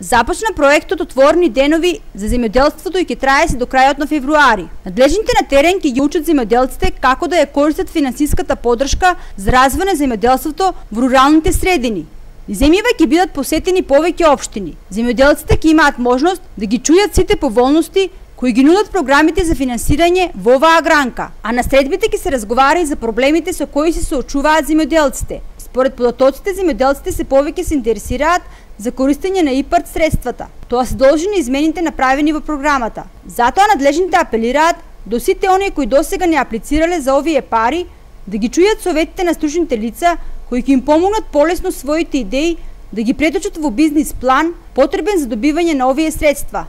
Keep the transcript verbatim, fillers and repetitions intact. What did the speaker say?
Започна проектот Отворени денови за земјоделството и ќе трае се до крајот на февруари. Надлежните на терен ќе ги учат земјоделците како да ја користат финансиската поддршка за развој на земјоделството во руралните средини. Земјава ќе бидат посетени повеќе општини. Земјоделците ќе имаат можност да ги чујат сите поволности кои ги нудат програмите за финансирање во оваа гранка, а на средбите ќе се разговара и за проблемите со кои се соочуваат земјоделците. Според податоците, земјоделците се повеќе се интересираат за користење на ИПАРД средствата. Тоа се должи на измените направени во програмата. Затоа надлежните апелираат до сите оние кои досега не аплицирале за овие пари да ги чујат советите на стручните лица кои ќе им помогнат полесно своите идеи да ги преточат во бизнис план потребен за добивање на овие средства.